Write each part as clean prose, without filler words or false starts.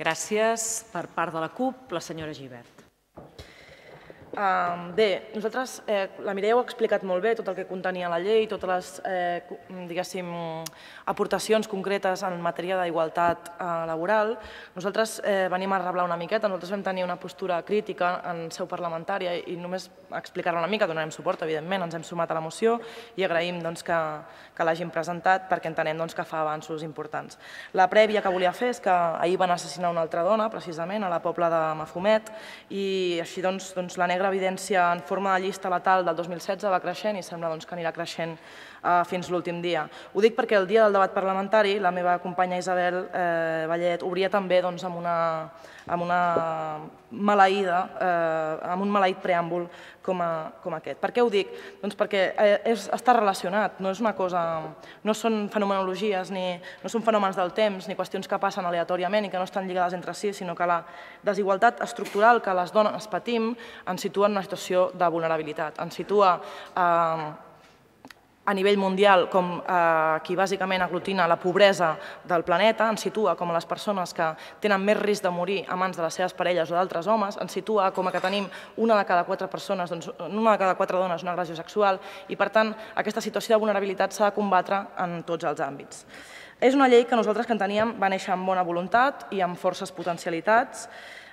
Gràcies. Per part de la CUP, la senyora Gibert. Bé, nosaltres, la Mireia ho ha explicat molt bé, tot el que contenia la llei, totes les, diguéssim, aportacions concretes en matèria d'igualtat laboral. Nosaltres venim a reblar una miqueta, nosaltres vam tenir una postura crítica en seu parlamentària i només explicar-la una mica, donarem suport, evidentment, ens hem sumat a la moció i agraïm que l'hagin presentat perquè entenem que fa avanços importants. La prèvia que volia fer és que ahir van assassinar una altra dona, precisament, a la Pobla de Mafumet, i així la negra evidència en forma de llista letal del 2016 va creixent i sembla que anirà creixent fins l'últim dia. Ho dic perquè el dia del debat parlamentari la meva companya Isabel Vallet obria també amb un maleït preàmbul com aquest. Per què ho dic? Doncs perquè està relacionat, no són fenomenologies, no són fenòmens del temps ni qüestions que passen aleatòriament i que no estan lligades entre si, sinó que la desigualtat estructural que les dones patim ens situa en una situació de vulnerabilitat, ens situa a nivell mundial com qui bàsicament aglutina la pobresa del planeta, ens situa com a les persones que tenen més risc de morir a mans de les seves parelles o d'altres homes, ens situa com a que tenim una de cada quatre persones, una de cada quatre dones una agressió sexual i, per tant, aquesta situació de vulnerabilitat s'ha de combatre en tots els àmbits. És una llei que nosaltres que enteníem va néixer amb bona voluntat i amb forces potencialitats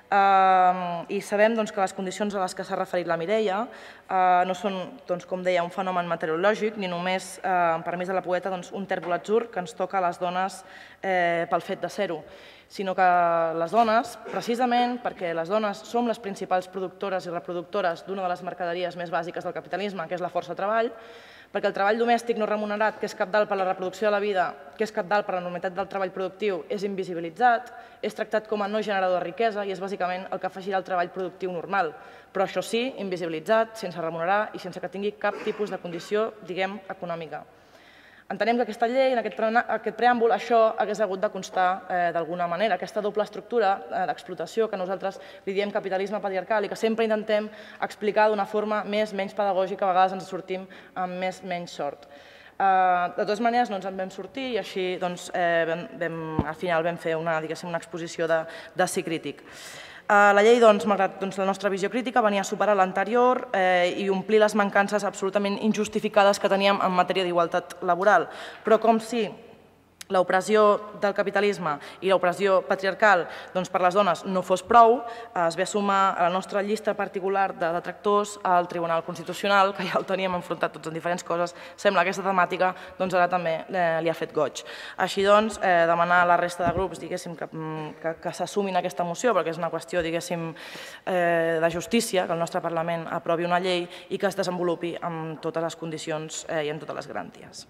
i sabem que les condicions a les que s'ha referit la Mireia no són, com deia, un fenomen meteorològic ni només, amb permís de la poeta, un tèrbol atzur que ens toca a les dones pel fet de ser-ho, sinó que les dones, precisament perquè les dones som les principals productores i reproductores d'una de les mercaderies més bàsiques del capitalisme, que és la força de treball, perquè el treball domèstic no remunerat, que és cabdal per a la reproducció de la vida, que és cabdal per a la normalitat del treball productiu, és invisibilitzat, és tractat com a no generador de riquesa i és bàsicament el que afegirà al treball productiu normal, però això sí, invisibilitzat, sense remunerar i sense que tingui cap tipus de condició, diguem, econòmica. Entenem que aquesta llei, en aquest preàmbul, això hagués hagut de constar d'alguna manera, aquesta doble estructura d'explotació que nosaltres li diem capitalisme patriarcal i que sempre intentem explicar d'una forma menys pedagògica, a vegades ens sortim amb menys sort. De totes maneres, no ens en vam sortir i així al final vam fer una exposició de sí crític. La llei, malgrat la nostra visió crítica, venia a superar l'anterior i omplir les mancances absolutament injustificades que teníem en matèria d'igualtat laboral. Però com si l'opressió del capitalisme i l'opressió patriarcal per les dones no fos prou, es ve a sumar a la nostra llista particular de detractors al Tribunal Constitucional, que ja el teníem enfrontat tots en diferents coses. Sembla que aquesta temàtica ara també li ha fet goig. Així doncs, demanar a la resta de grups que s'assumin a aquesta moció, perquè és una qüestió de justícia, que el nostre Parlament aprovi una llei i que es desenvolupi amb totes les condicions i amb totes les garanties.